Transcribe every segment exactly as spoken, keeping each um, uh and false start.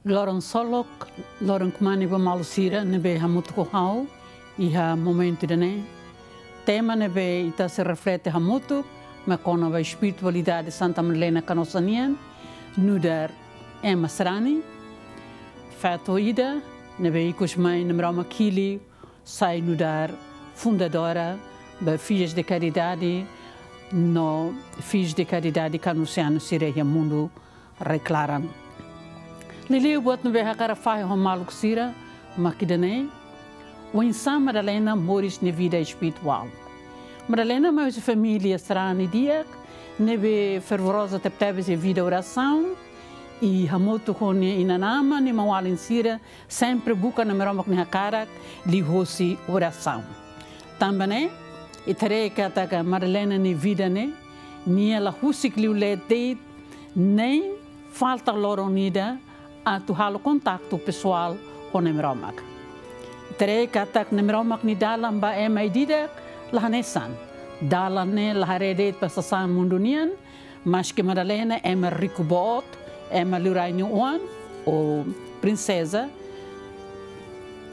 Loron solok, loron kmanek ba maluk sira ne'ebé hamutuk ho ha'u iha momentu ida-ne'e. Tema ne'ebé ita sei reflete hamutuk mak kona-ba espiritualidade Santa Madalena Canossa nian, nu'udar ema sarani, feto ida ne'ebé ikus mai Nai Maromak hili sai nu'udar fundadora ba Filhos de Caridade no Filhos de Caridade Canossiano sira iha mundu rai-klaran. Liuliu buat ne'ebé hakarak fahe ho maluk sira mak ida-ne'e: oinsá Madalena moris nia vida espirituál. Madalena mai husi família sarani di'ak ne'ebé fervoroza tebetebes iha vida orasaun, i hamutuk ho nia inan-aman, nia maun-alin sira sempre buka Nai Maromak nia hakarak liuhosi orasaun. Tanba ne'e, ita haree katak Madalena nia vida ne'e, nia la husik liu leet de'it, nein falta loron ida atu halo kontaktu pesoál ho Nai Maromak. Ita haree katak Nai Maromak nia dalan ba ema ida-idak la hanesan. Dalan ne'e la haree de'it ba sasán mundu nian, maske Madalena ema riku boot, ema liurai nia oan, ou prinseza,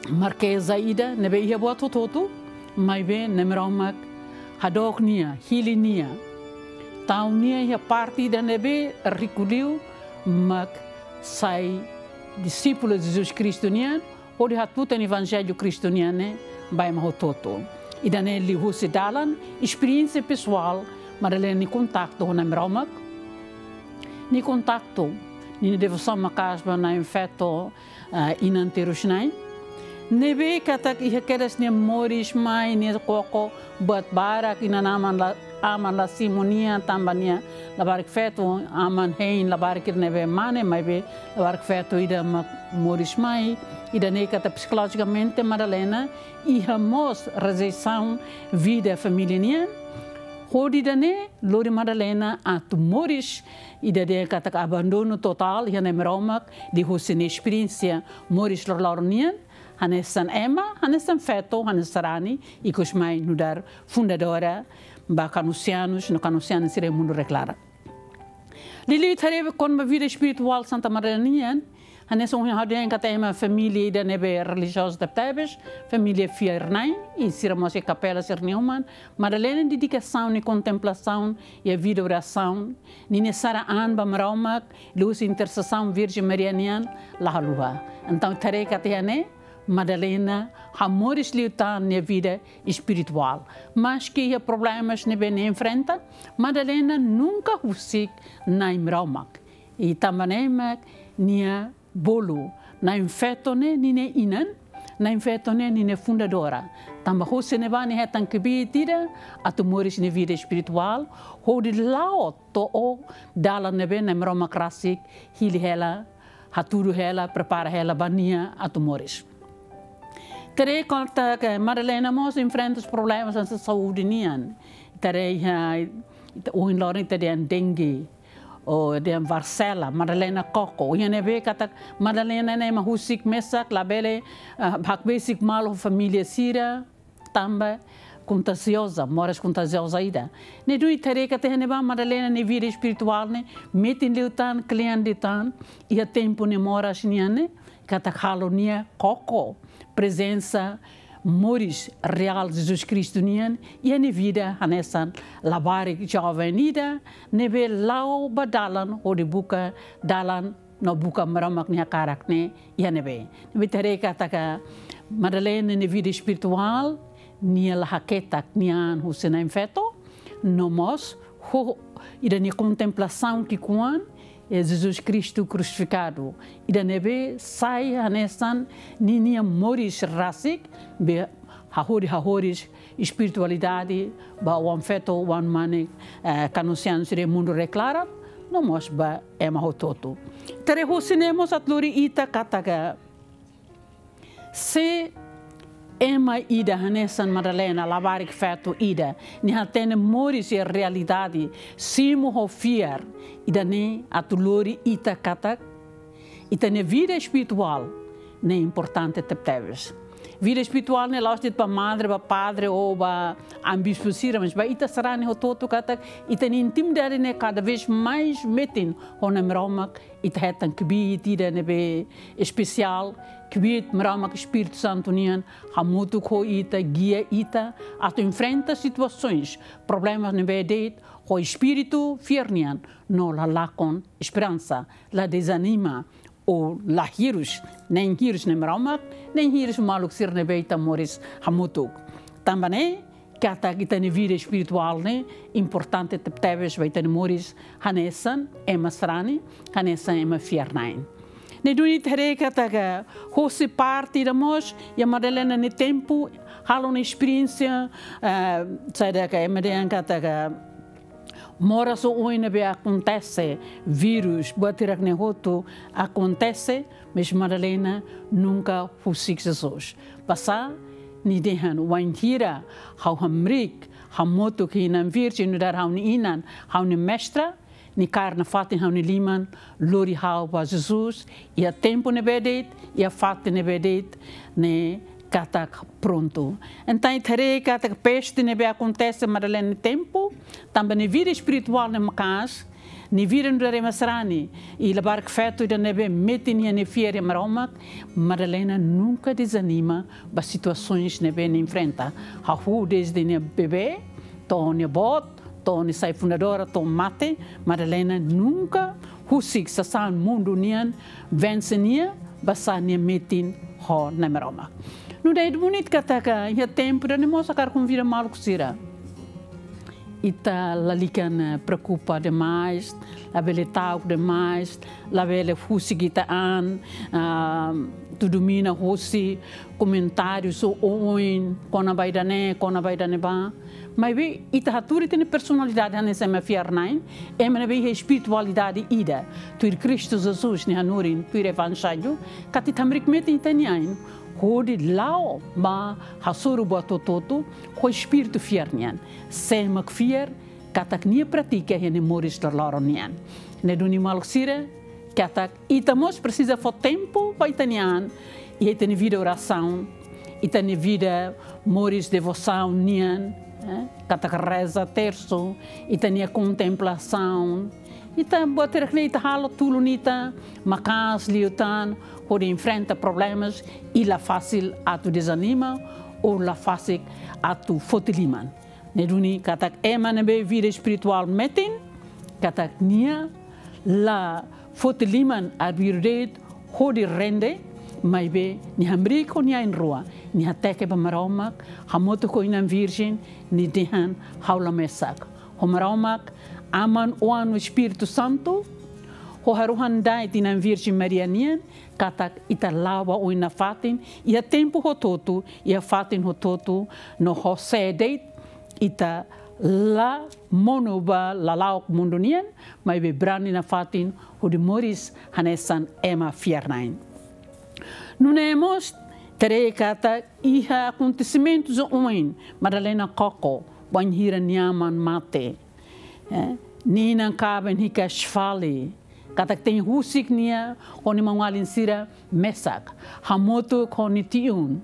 markeza ida ne'ebé iha buat hotu-hotu, maibé Nai Maromak hadook nia, hili nia, tau nia iha parte ida ne'ebé riku liu, mak sai disípulu Jesus Kristu nian, hodi hatutan Evanjellu Kristu nian ne'e ba ema hotu-hotu. Ida-ne'e liuhusi dalan, esperiénsia pesoál Madalena nia kontaktu ho Nai Maromak, nia kontaktu, nia devosaun maka'as ba Na'in-Feto, ah, inan terus-na'in. Ne'ebé katak iha kedas nia moris mai, nia koko buat barak, inan-aman la, aman la simu nia, tanba nia labarik feto, aman hein labarik ida ne'ebé mane, maibé labarik feto ida mak moris mai. Ida-ne'e katak psikolojikamente Madalena iha mós rejeisaun vida família nian. Hodi ida-ne'e lori Madalena atu moris ida dehan katak abandonu totál iha Nai Maromak, liuhusi nia esperiénsia moris loroloron nian, hanesan ema, hanesan feto, hanesan sarani, ikus mai nu'udar fundadora ba Canossianos no Canossianas sira iha mundu rai-klaran. Liuliu ita haree kona-ba vida espirituál Santa Madalena nian, hanesan ohin ha'u dehan katak ema família ida ne'ebé relijiozu tebetebes, família fiar-na'in, i sira mós iha kapela sira-nia uma. Madalena nia dedikasaun, nia kontemplasaun, iha vida orasaun, ninia sara an ba Maromak, liuhusi intersesaun Virjen Maria nian, la haluha. Entaun, ita haree katak iha ne'e, Madalena hamoris liután nia vida espirituál. Maske iha problemas ne'ebé nia enfrenta, Madalena nunka husik Nai Maromak. I tanba ne'e mak nia bolu Na'in-Feto ne'e ninia inan, Na'in-Feto ne'e ninia fundadora. Tanba husi ne'ebá nia hetan kbiit ida atu moris nia vida espirituál, hodi la'o to'o dalan ne'ebé Nai Maromak rasik hili hela, hatudu hela, prepara hela ba nia atu moris. Ita haree katak Madalena mós enfrenta problemas hanesan saúde nian. Ita haree iha, ita ohin loron ita dehan dengue, ou dehan varsela, Madalena koko. Iha ne'ebé katak Madalena ne'e ema husik mesak, labele, ah, hakbesik malu família sira, tanba kontagioza, moras kontagioza ida. Ne'e duni ita haree katak iha ne'ebá Madalena nia vida espirituál ne'e metin liután, kle'an liután, iha tempu nia moras nian ne'e, katak halo nia koko prezensa moris reál Jesus Kristu nian iha nia vida, hanesan labarik joven ida ne'ebé la'o ba dalan hodi buka dalan no buka Maromak nia hakarak ne'e iha ne'ebé. Ne'ebé ita haree katak Madalena nia vida espirituál, nia la haketak nia an husi Na'in-Feto, no mós ho ida nia kontemplasaun ki'ikoan, eh, Jesus Kristu krusifikadu. Ida ne'ebé sai hanesan ninia moris rasik, be hahodi hahoris espiritualidade ba oan-feto, oan-mane, eh, Canossianos sira iha mundu rai-klaran, no mós ba ema hotu-hotu. Ita haree husi ne'e mós atu lori ita katak se ema ida hanesan Madalena, labarik feto ida, nia hatene moris iha realidade, simu ho fiar, ida-ne'e atu lori ita katak ita-nia vida espirituál ne'e importante tebetebes. Vida espirituál ne'e la'ós de'it ba madre, ba padre ou ba amu bispu sira, mas ba ita sarani hotu-hotu katak ita-nia intimidade ne'e kada vez mais metin ho Nai Maromak, ita hetan kbiit ida ne'ebé espesiál, kbiit Maromak Espíritu Santu nian hamutuk ho ita, gia ita atu enfrenta situasaun, problema ne'ebé de'it, ho espíritu fiar nian, no la lakon esperansa, la dezanima, ou la hirus, nein hirus Nai Maromak, nein hirus maluk sira ne'ebé ita moris hamutuk. Tanba ne'e, katak ita-nia vida espirituál ne'e importante tebetebes ba ita-nia moris hanesan ema sarani, hanesan ema fiar-na'in. Ne'e duni ita haree katak hosi parte ida mós, iha Madalena nia tempu, halo nia esperiénsia, eh, saida ka ema dehan katak moras oioin ne'ebé akontese, vírus, buat hirak-ne'e hotu akontese, mas Madalena nunka husik Jesus. Basá nia dehan, wainhira ha'u hamriik hamutuk ho Inan Virjen, nu'udar ha'u-nia inan, ha'u-nia mestra, nia kaer nafatin ha'u-nia liman, lori ha'u ba Jesus, iha tempu ne'ebé de'it, iha fatin ne'ebé de'it, ne'e katak prontu. Entaun ita haree katak peste ne'ebé akontese Madalena nia tempu, tanba nia vida espirituál ne'e maka'as, nia vida nu'udar ema sarani, i labarik feto ida ne'ebé metin nia fiar iha Maromak, Madalena nunka dezanima ba situasaun ne'ebé nia enfrenta. Hahú dezde nia bebé, to'o nia boot, to'o nia sai fundadora, to'o mate, Madalena nunka husik sasán mundu nian vense nia, basá nia metin ho Nai Maromak. Nu'udar ida bonita katak iha tempu ida-ne'e mós hakarak konvida maluk sira. Ita lalika, eh, preokupa demais, labele ta'uk demais, labele husik ita-nia an, ah, atu domina hosi komentáriu oioin, kona-ba ida-ne'e, kona-ba ida-ne'ebá. Maibé ita hatuur ita-nia personalidade hanesan ema fiar-na'in, ema ne'ebé iha espiritualidade ida, tuir Kristu Jesus nia hanorin, tuir Evanjellu, katak ita hamriik metin ita-nia ain, hodi la'o ba hasoru buat hotu-hotu ho espíritu fiar nian. Sé mak fiar, katak nia pratika iha nia moris loroloron nian. Ne'e duni maluk sira, katak ita mós presiza fó tempu ba ita-nia an, iha ita-nia vida orasaun, ita-nia vida moris devosaun nian, eh, katak reza tersu, ita-nia kontemplasaun, ita buat hirak-ne'e ita halo tulun ita maka'as liután, hodi enfrenta problemas, i la fasil atu dezanima, ou la fasik atu foti liman. Ne'e duni katak ema ne'ebé vida espirituál metin, katak nia la foti liman arbiru de'it hodi rende, maibé nia hamriik ho nia ain-rua, nia hateke ba Maromak, hamutuk ho Inan Virjen, nia dehan ha'u la mesak. Ho Maromak, Aman, Oan no Espíritu Santu, ho haruhan da'et Inan Virjen Maria nian, katak ita la'o ba oin nafatin, iha tempu hotu-hotu, iha fatin hotu-hotu, no ho sé de'it, ita la monu ba lala'ok mundu nian, maibé brani nafatin hodi moris hanesan ema fiar-na'in. Nune'e mós, ita haree katak iha akontesimentu oioin, Madalena koko, bainhira nia aman mate. Eh, nia inan-kaben hikas fali, katak tenke husik nia ho nia maun-alin sira mesak, hamutuk ho nia tiun,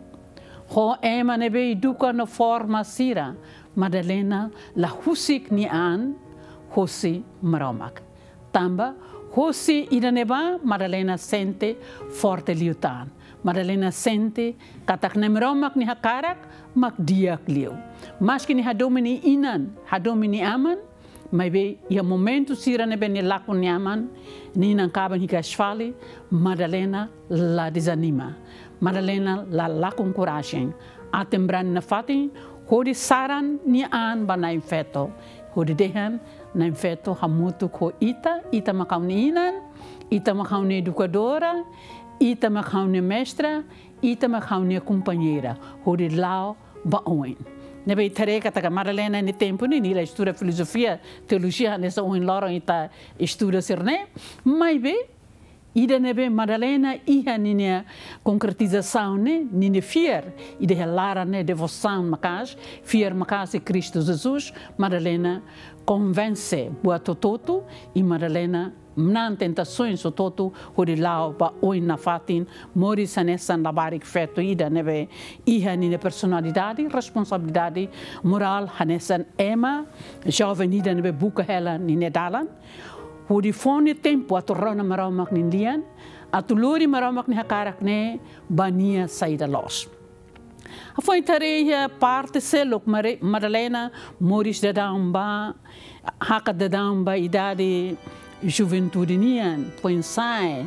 ho ema ne'ebé eduka no forma sira, Madalena la husik nia an hosi Maromak. Tanba hosi ida-ne'ebá Madalena sente forte liután. Madalena sente katak Nai Maromak nia hakarak mak di'ak liu. Maski nia hadomi nia inan, hadomi nia aman, maibé iha momentu sira ne'ebé nia lakon nia aman, nia inan-kaben hikas fali, Madalena la dezanima. Madalena la lakon korajen. Aten brani nafatin, hodi saran nia an ba na'in-feto. Hodi dehan, na'in-feto hamutuk ho ita, ita mak ha'u-nia inan, ita mak ha'u-nia edukadora, ita mak ha'u-nia mestra, ita mak ha'u-nia kompañeira. Hodi la'o ba oin. Ne'ebé ita haree katak Madalena nia tempu ne'e, nia la estuda filozofia, teolojia, hanesan ohin loron ita estuda sira-ne'e. Maibé, Ida ne'ebé Madalena iha ninia konkretizasaun ne'e, ninia fiar ida iha laran ne'e, devosaun maka'as, fiar maka'as iha Kristu Jesus, Madalena konvense buat hotu-hotu, i Madalena manán tentasaun hotu-hotu hodi la'o ba oin nafatin, moris hanesan labarik feto ida ne'ebé iha ninia personalidade, responsabilidade morál hanesan ema joven ida ne'ebé buka hela ninia dalan, hodi fó nia tempu atu rona Maromak nia lian, atu lori Maromak nia hakarak ne'e ba nia saida loos. Hafoin ita haree iha parte seluk, Mare-, Madalena moris daudaun ba, hakat daudaun ba idade juventude nian, foin-sa'e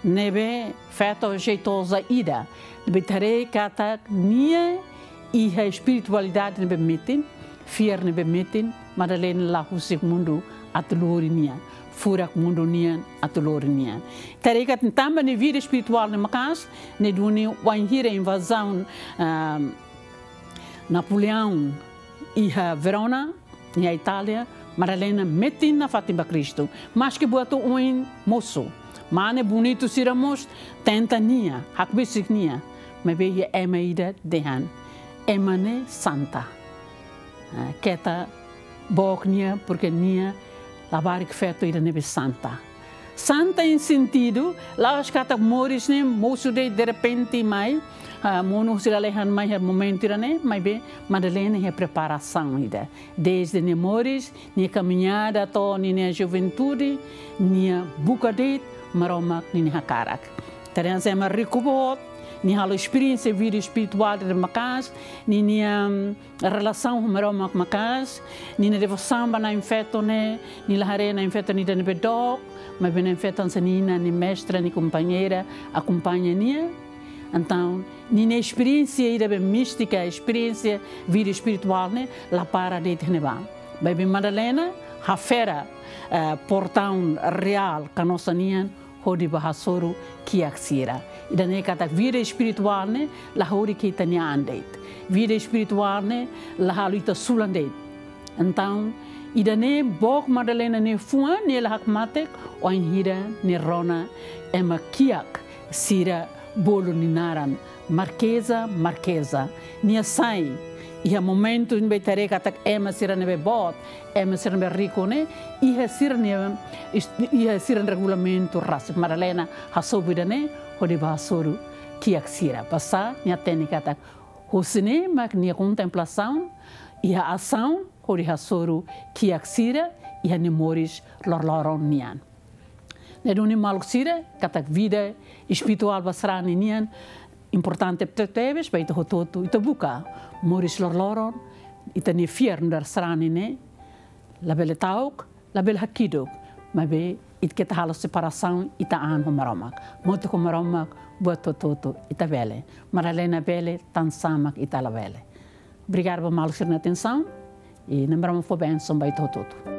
ne'ebé feto jeitoza ida, ne'ebé ita haree katak nia iha espiritualidade ne'ebé metin, fiar ne'ebé metin, Madalena la husik mundu atu lori nia, furak mundu nian atu lori nia. Ita haree katak tanba nia vida espirituál ne'e maka'as, ne'e duni wainhira invazaun, ah, Napoleão iha Verona, iha Itália, Madalena metin nafatin ba Kristu. Maski buat oioin mosu, mane bonitu sira mós tenta nia, hakbesik nia, maibé iha ema ida dehan, ema ne'e santa. Ah, keta book nia, porke nia labarik feto ida ne'ebé santa. Santa iha sentidu, la'ós katak moris ne'e mosu de'it derrepente mai, ah, monu husi lalehan mai iha momentu ida-ne'e, maibé Madalena iha preparasaun ida. Desde nia moris, nia kamiñada to'o ninia juventude, nia buka de'it Maromak ninia hakarak. Ita haree hanesan ema riku boot, nia halo esperiénsia vida espirituál ne'ebé maka'as, ninia, mm, relasaun ho Maromak maka'as, ninia devosaun ba na'in-feton ne'e, nia la haree na'in-feton ida ne'ebé dook, maibé na'in-feton hanesan nia inan, nia mestra, nia kompañeira, akompaña nia. Entaun, ninia esperiénsia ida be místika, esperiénsia vida espirituál ne'e, la para de'it iha ne'ebá. Maibé Madalena hafera, eh, portaun reál, kanosa nian, hodi bá hasoru kiak sira. Ida-ne'e katak vida espirituál ne'e la horik iha ita-nia an de'it. Vida espirituál ne'e la halo ita sulan de'it. Entaun, ida-ne'e book Madalena nia fuan, nia la hakmatek, wainhira nia rona ema kiak sira bolu nia naran, Markeza, Markeza. Nia sai iha momentu ne'ebé ita haree katak ema sira ne'ebé boot, ema sira ne'ebé riku ne'e, iha sira-nia, is-, iha sira-nia regulamentu rasik. Madalena hasobu ida-ne'e hodi bá hasoru kiak sira. Basá nia hatene katak husi ne'e mak nia kontemplasaun iha asaun hodi hasoru kiak sira iha nia moris loroloron nian. Ne'e duni maluk sira, katak vida espirituál ba sarani nian importante tebetebes ba ita hotu-hotu. Ita buka moris loroloron, ita-nia fiar nu'udar sarani ne'e labele ta'uk, labele hakiduk, maibé ita keta halo separasaun ita-an ho Maromak. Motuk ho Maromak buat hotu-hotu ita bele. Madalena bele, tansá mak ita labele. Obrigadu ba maluk sira-nia atensaun, i Nai Maromak fó bensaun ba ita hotu-hotu.